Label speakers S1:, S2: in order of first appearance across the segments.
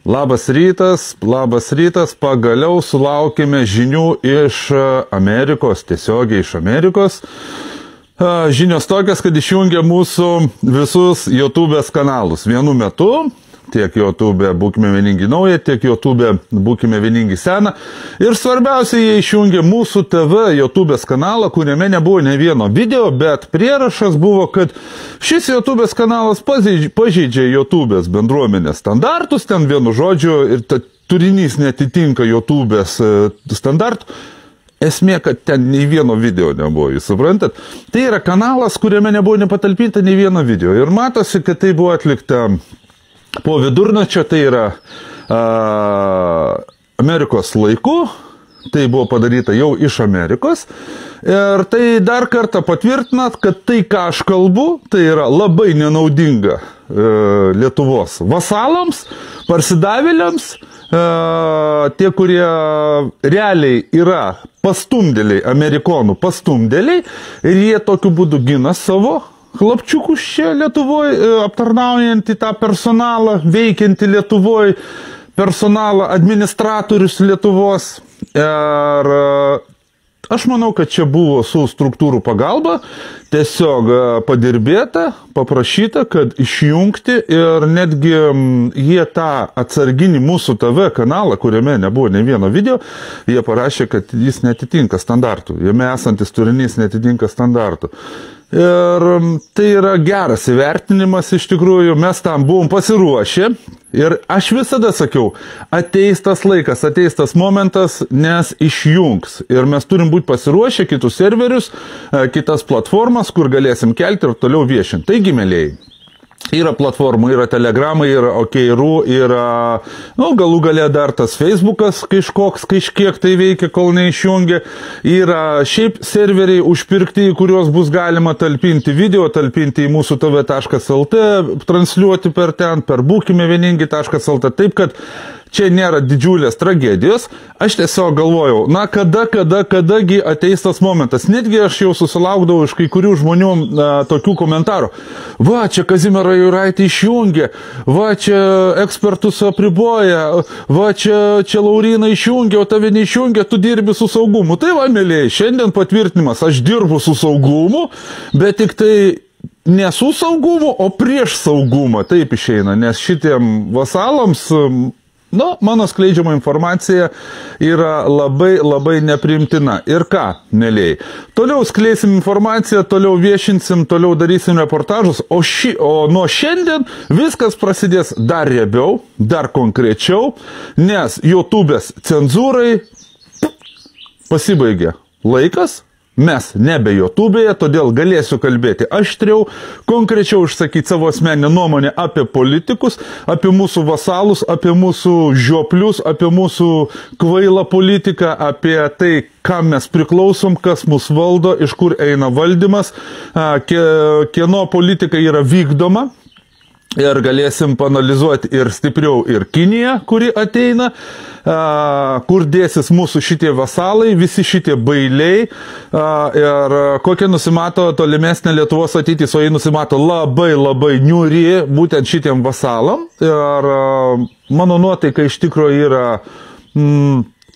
S1: Labas rytas, pagaliau sulaukėme žinių iš Amerikos, tiesiogiai iš Amerikos. Žinios tokias, kad išjungia mūsų visus YouTube'ės kanalus vienu metu. Tiek YouTube būkime vieningi naują, tiek YouTube būkime vieningi seną. Ir svarbiausia, jie išjungė mūsų TV YouTube'ės kanalą, kuriame nebuvo ne vieno video, bet prierašas buvo, kad šis YouTube'ės kanalas pažeidžia YouTube'ės bendruomenės standartus, ten vienu žodžiu, ir turinys netitinka YouTube'ės standartų. Esmė, kad ten nei vieno video nebuvo, jūs suprantat? Tai yra kanalas, kuriame nebuvo nepatalpinta nei vieno video. Ir matosi, kad tai buvo atlikta po vidurnačio, tai yra Amerikos laiku, tai buvo padaryta jau iš Amerikos. Ir tai dar kartą patvirtinat, kad tai, ką aš kalbu, tai yra labai nenaudinga Lietuvos vasalams, parsidavėliams, tie, kurie realiai yra pastumdėliai, amerikonų pastumdėliai, ir jie tokiu būdu gina savo chlapčiukus čia Lietuvoje, aptarnaujantį tą personalą, veikiantį Lietuvoje, personalą, administratorius Lietuvos. Ir aš manau, kad čia buvo su struktūrų pagalba tiesiog padirbėta, paprašyta, kad išjungti, ir netgi jie tą atsarginį mūsų TV kanalą, kuriame nebuvo ne vieno video, jie parašė, kad jis netitinka standartų, jame esantis turinys netitinka standartų. Ir tai yra geras įvertinimas, iš tikrųjų, mes tam buvom pasiruošę. Ir aš visada sakiau, ateis tas laikas, ateis tas momentas, nes išjungs. Ir mes turim būti pasiruošę kitus serverius, kitas platformas, kur galėsim kelti ir toliau viešinti. Taigi, mėlėjai, yra platformų, yra Telegramai, yra OKRU, yra, galų gale dar tas Facebookas kažkiek tai veikia, kol neišjungia. Yra šiaip serveriai užpirkti, į kuriuos bus galima talpinti video, talpinti į mūsų tv.lt, transliuoti per ten, per būkime vieningi.lt, taip kad čia nėra didžiulės tragedijos. Aš tiesiog galvojau, kadagi ateis tas momentas. Netgi aš jau susilaukdavau iš kai kurių žmonių tokių komentarų. Va, čia Kazimierą Juraitį išjungė, va, čia ekspertus apriboja, va, čia Lauryną išjungė, o tave neišjungė, tu dirbi su saugumu. Tai va, mėlėjai, šiandien patvirtinimas, aš dirbu su saugumu, bet tik tai ne su saugumu, o prieš saugumą. Taip išeina, nes šitiem vasalams mano skleidžiama informacija yra labai nepriimtina. Ir ką, mėlėjai? Toliau skleisim informaciją, toliau viešinsim, toliau darysim reportažus, o nuo šiandien viskas prasidės dar riebiau, dar konkrečiau, nes YouTube'ės cenzūrai pasibaigė laikas. Mes nebe YouTube'e, todėl galėsiu kalbėti aštriau, konkrečiau išsakyti savo asmeninę nuomonę apie politikus, apie mūsų vasalus, apie mūsų žioplius, apie mūsų kvailą politiką, apie tai, kam mes priklausom, kas mus valdo, iš kur eina valdymas, kieno politika yra vykdoma. Ir galėsim panalizuoti ir stipriau ir Kiniją, kuri ateina, kur dėsis mūsų šitie vasalai, visi šitie bailiai, ir kokia nusimato tolimesnė Lietuvos ateitis, o jį nusimato labai niūri būtent šitiem vasalam. Ir mano nuotaika iš tikrųjų yra,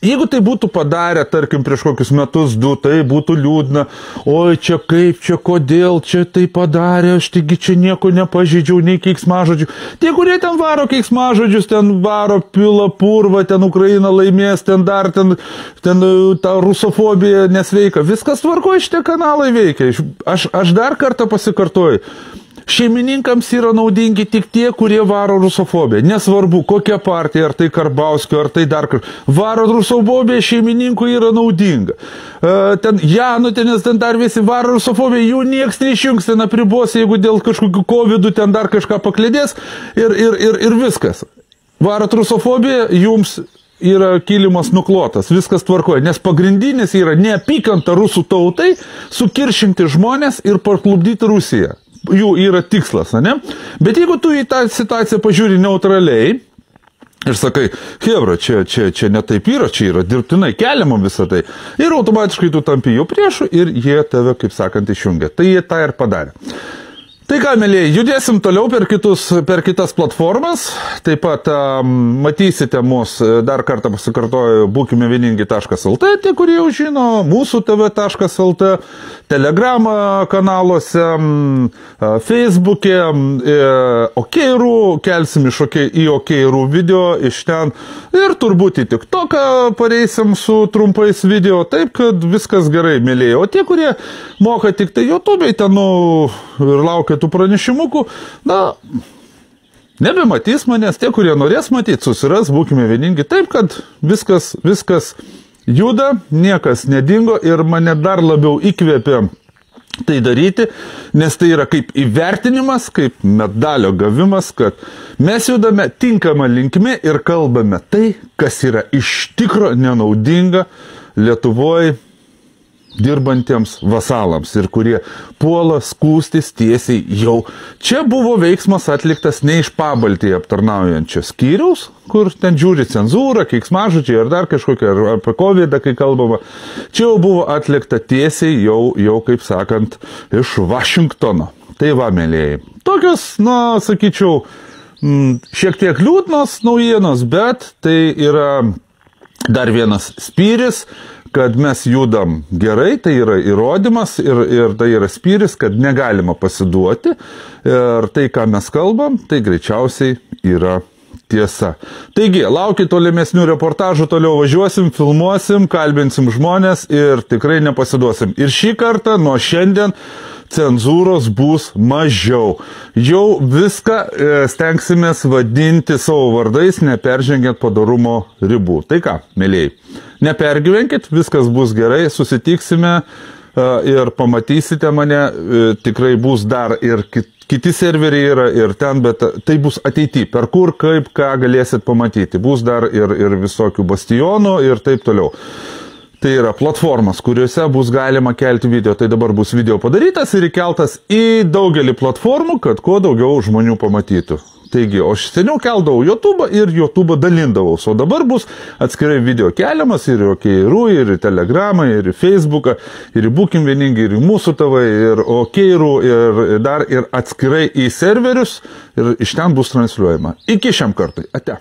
S1: jeigu tai būtų padarę, tarkim, prieš kokius metus, du, tai būtų liūdna. Oi, čia kaip, čia kodėl, čia tai padarė, aš taigi čia nieko nepažeidžiau, nei keiksmažodžių. Tie, kurie ten varo keiksmažodžius, ten varo pila purvą, ten Ukraina laimės, ten ta rusofobija nesveika. Viskas tvarkoja, šitie kanalai veikia. Aš dar kartą pasikartoju. Šeimininkams yra naudingi tik tie, kurie varo rusofobiją. Nesvarbu, kokia partija, ar tai Karbauskio, ar tai dar kažkas. Varo rusofobija šeimininkui yra naudinga. Ten Janutienės, ten dar visi varo rusofobiją, jų nieks neišjungs, ten apribos, jeigu dėl kažkokių covidų ten dar kažką paklėdės, ir viskas. Varot rusofobiją, jums yra kilimas nuklotas, viskas tvarkoja, nes pagrindinis yra neapykanta rusų tautai, sukiršinti žmonės ir parklubdyti Rusiją. Jų yra tikslas, ne? Bet jeigu tu į tą situaciją pažiūri neutraliai ir sakai, hebra, čia ne taip yra, čia yra dirbtinai keliama visą tai, ir automatiškai tu tampi jų priešų ir jie tave, kaip sakant, išjungia. Tai jie tą ir padarė. Tai ką, mėlyje, judėsim toliau per kitas platformas. Taip pat matysite mus, dar kartą pasikartoju, būkimevieningi.lt, tie, kurie jau žino, mūsų tv.lt, Telegram kanaluose, Facebook'e, OKRų, kelsim į OKRų video iš ten ir turbūt į TikToką pareisim su trumpais video, taip kad viskas gerai, mėlyje. O tie, kurie moka tik tai YouTube'ai ten, ir laukia tų pranešimukų, nebematys manęs, tie, kurie norės matyti, susiras, būkime vieningi, taip, kad viskas juda, niekas nedingo ir mane dar labiau įkvėpė tai daryti, nes tai yra kaip įvertinimas, kaip medalio gavimas, kad mes judame tinkamą linkme ir kalbame tai, kas yra iš tikro nenaudinga Lietuvoje dirbantiems vasalams ir kurie puola skūstis tiesiai jau. Čia buvo veiksmas atliktas ne iš Pabaltijai aptarnaujančio skyriaus, kur ten žiūri cenzūrą, keiksmažodžiai ar dar kažkokia, ar apie COVID, kai kalbama. Čia jau buvo atlikta tiesiai jau kaip sakant, iš Vašingtono. Tai va, mėlėjai. Tokios, sakyčiau, šiek tiek liūdnos naujienos, bet tai yra dar vienas spyris, kad mes judam gerai, tai yra įrodymas ir tai yra spyris, kad negalima pasiduoti ir tai, ką mes kalbam, tai greičiausiai yra tiesa. Taigi, laukit tolimesnių reportažų, toliau važiuosim, filmuosim, kalbinsim žmonės ir tikrai nepasiduosim. Ir šį kartą nuo šiandien cenzūros bus mažiau. Jau viską stengsimės vadinti savo vardais, neperžengiant padorumo ribų. Tai ką, mėlyjei, nepergyvenkit, viskas bus gerai, susitiksime ir pamatysite mane, tikrai bus dar ir kiti serveriai yra ir ten, bet tai bus ateity, per kur, kaip, ką galėsit pamatyti. Bus dar ir visokių bastionų ir taip toliau. Tai yra platformas, kuriuose bus galima kelti video. Tai dabar bus video padarytas ir įkeltas į daugelį platformų, kad kuo daugiau žmonių pamatytų. Taigi, aš seniau keldavau YouTube ir YouTube dalindavau. O dabar bus atskirai video keliamas ir į OKRų, ir į Telegramą, ir į Facebooką, ir į Būkim vieningi, ir į mūsų TV, ir OKRų, ir dar ir atskirai į serverius. Ir iš ten bus transliuojama. Iki šiam kartui. Ate.